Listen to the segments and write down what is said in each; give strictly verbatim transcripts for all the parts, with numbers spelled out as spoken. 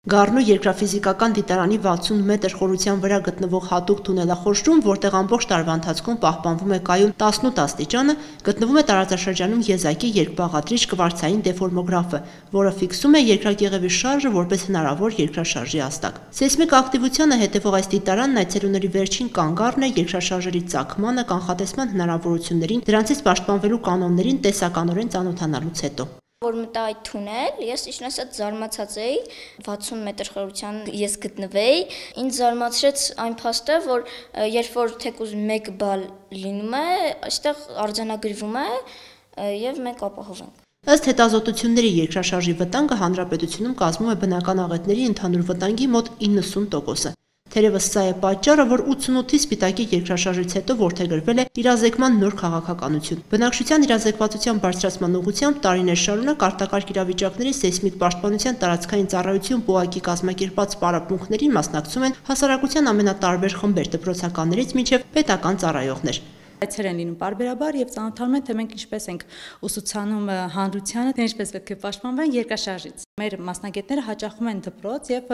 Գառնու երկրաֆիզիկական դիտարանի վաթսուն մետր խորության վրա գտնվող հատուկ թունելախորշում, որտեղ ամբողջ տարվա ընթացքում պահպանվում է կայուն տասնութ աստիճանը, գտնվում է տարածաշրջանում եզակի երկբաղադրիչ կվարցային դեֆորմոգրաֆը, որը ֆիքսում է երկրակեղևի շարժը որպես հնարավոր երկրաշարժի աստակ։ Սեյսմիկ ակտիվությանը հետևող այս դիտարանն այցելուների վերջին կանգառն է երկրաշարժերի ծագմանը, կանխատեսման հնարավորություններին, դրանցից պաշտպանվելու կանոններին տեսականորեն ծանոթանալուց հետո։ Որ մտա այդ թունել, ես իշխն ասած զարմացած էի, վաթսուն մետր խորության ես գտնվեի, ինձ զարմացրեց այն փաստը, որ երբ որ թեկուզ մեկ բալ լինում է, այստեղ արձանագրվում է եւ մենք ապահովենք։ Ըստ հետազոտությունների երկրաշարժի վտանգը հանրապետությունում կազմում է բնական աղետների ընդհանուր վտանգի մոտ իննսուն տոկոսը։ Թերևս սա է պատճառը, որ ութսունութի սպիտակի երկրաշարժից հետո որդեգրվել է իրազեկման նոր քաղաքականություն։ Բնակչության իրազեկվածության բարձրացման ուղղությամբ տարիներ շարունակ արտակարգ իրավիճակների սեյսմիկ պաշտպանության տարածքային ծառայություն ՊՈԱԿ-ի կազմակերպած պարապմունքներին մասնակցում են հասարակության ամենատարբեր խմբեր, դպրոցականներից մինչև պետական ծառայողներ։ Այցեր են լինում պարբերաբար եւ ծանոթանում են, թե մենք ինչպես ենք ուսուցանում հանրությանը, թե ինչպես պետք է պաշտպանվեն երկրաշարժից։ Մեր մասնագետները հաճախում են դպրոց եւ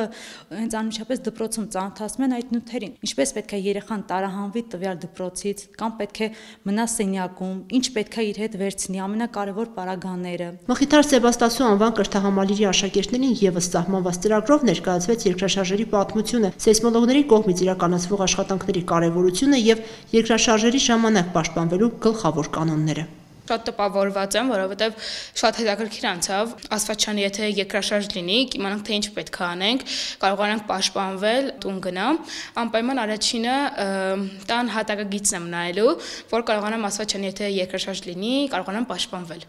հենց անմիջապես դպրոցում ծանոթացնում են այդ նյութերին։ Ինչպես պետք է երեխան տարահանվի տվյալ դպրոցից, կամ պետք է մնա սենյակում, ինչ պետք է իր հետ վերցնի, ամենակարևոր պարագաները։ Մխիթար Սեբաստասու անվան կրթահամալիրի աշակերտներին եւս սահմանված ծրագրով ներկայացվեց երկրաշարժերի պատմությունը, սեյսմոլոգների կողմից իրականացվող աշխատանքների կարևորությունը եւ երկրաշարժերի ժամանակ պաշտպանվելու գլխավոր կանոնները։ Շատ տպավորված եմ, որովհետև շատ հետաքրքիր անցավ, ասված չանի, եթե երկրաշարժ լինի, իմանանք թե ինչ պետք է անենք, կարողանանք պաշտպանվել, տուն գնամ, անպայման առաջինը տան հատակագիծն եմ նայելու, որ կարողանամ ասված չանի, եթե երկրաշարժ լինի, կարողանամ պաշտպանվել։